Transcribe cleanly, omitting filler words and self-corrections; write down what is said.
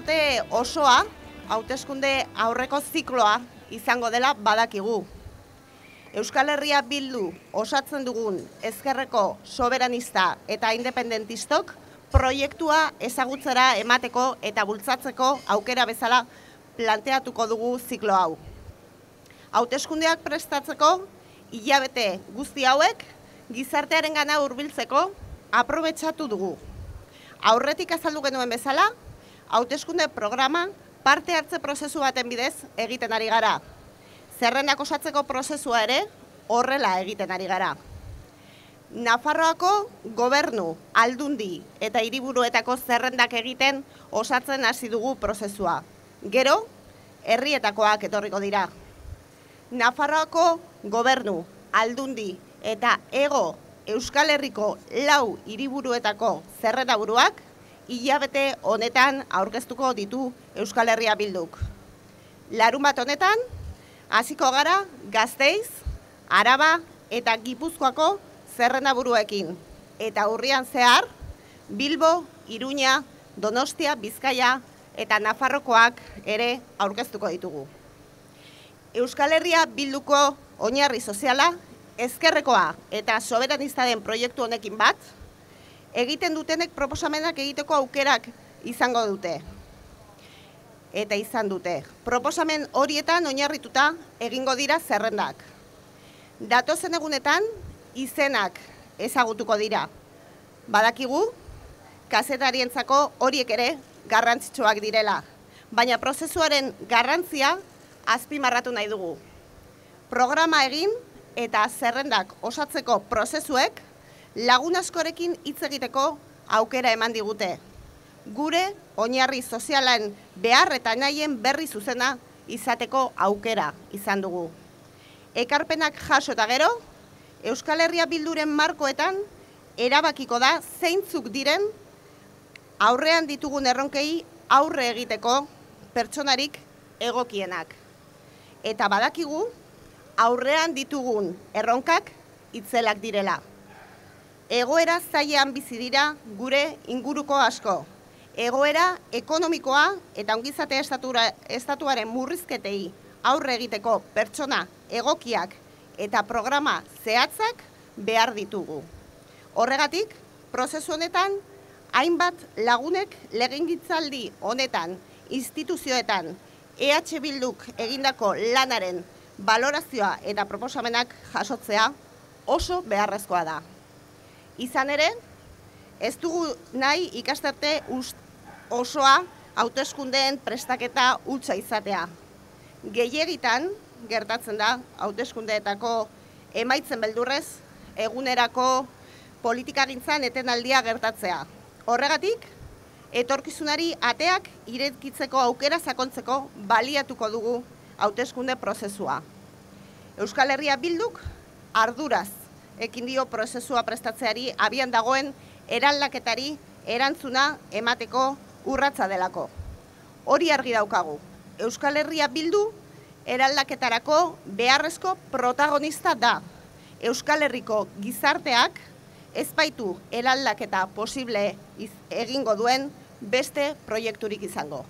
urte osoa, hauteskunde aurreko zikloa izango dela badakigu. Euskal Herria Bildu osatzen dugun ezkerreko soberanista eta independentistok proiektua ezagutzera emateko eta bultzatzeko aukera bezala planteatuko dugu ziklo hau. Hauteskundeak prestatzeko hilabete guzti hauek gizartearengana hurbiltzeko aprobetxatu dugu. Aurretik azaldu genuen bezala, hauteskunde programa parte hartze prozesu baten bidez egiten ari gara. Zerrendak osatzeko prozesua ere horrela egiten ari gara. Nafarroako gobernu, aldundi eta hiriburuetako zerrendak egiten osatzen hasi dugu prozesua. Gero, herrietakoak etorriko dira. Nafarroako gobernu, aldundi eta hego Euskal Herriko 4 hiriburuetako zerrendaburuak hilabete honetan aurkeztuko ditu Euskal Herria Bilduk. Larunbat honetan, hasiko gara Gasteiz, Araba eta Gipuzkoako zerrendaburuekin. Eta urrian zehar, Bilbo, Iruña, Donostia, Bizkaia eta Nafarrokoak ere aurkeztuko ditugu. Euskal Herria Bilduko oinarri soziala, ezkerrekoa eta soberanista den proiektu honekin bat, egiten dutenek proposamenak egiteko aukerak izango dute. Eta izan dute. Proposamen horietan oinarrituta egingo dira zerrendak. Datozen egunetan izenak ezagutuko dira. Badakigu, kazetarientzako horiek ere garrantzitsuak direla, baina prozesuaren garrantzia azpimarratu nahi dugu. Programa egin eta zerrendak osatzeko prozesuek lagun askorekin hitz egiteko aukera eman digute. Gure oinarri sozialen behar eta nahien berri zuzena izateko aukera izan dugu. Ekarpenak jaso eta gero, Euskal Herria Bilduren markoetan erabakiko da zeintzuk diren aurrean ditugun erronkei aurre egiteko pertsonarik egokienak. Eta badakigu, aurrean ditugun erronkak itzelak direla. Egoera zailean bizi dira gure inguruko asko. Egoera ekonomikoa eta ongizate estatuaren murrizketei aurre egiteko pertsona egokiak eta programa zehatzak behar ditugu. Horregatik, prozesu honetan, hainbat lagunek legegintzaldi honetan, instituzioetan, EH Bilduk egindako lanaren balorazioa eta proposamenak jasotzea oso beharrezkoa da. Izan ere, ez dugu nahi ikastarte osoa hauteskundeen prestaketa hutsa izatea. Gehiegitan gertatzen da hauteskundeetako emaitzen beldurrez egunerako politikagintzan etenaldia gertatzea. Horregatik, etorkizunari ateak irekitzeko aukera sakontzeko baliatuko dugu hauteskunde prozesua. Euskal Herria Bilduk arduraz ekin dio prozesua prestatzeari abian dagoen eraldaketari erantzuna emateko urratsa delako. Hori argi daukagu. Euskal Herria Bildu eraldaketarako beharrezko protagonista da. Euskal Herriko gizarteak ez baitu eraldaketa posible egingo duen beste proiekturik izango.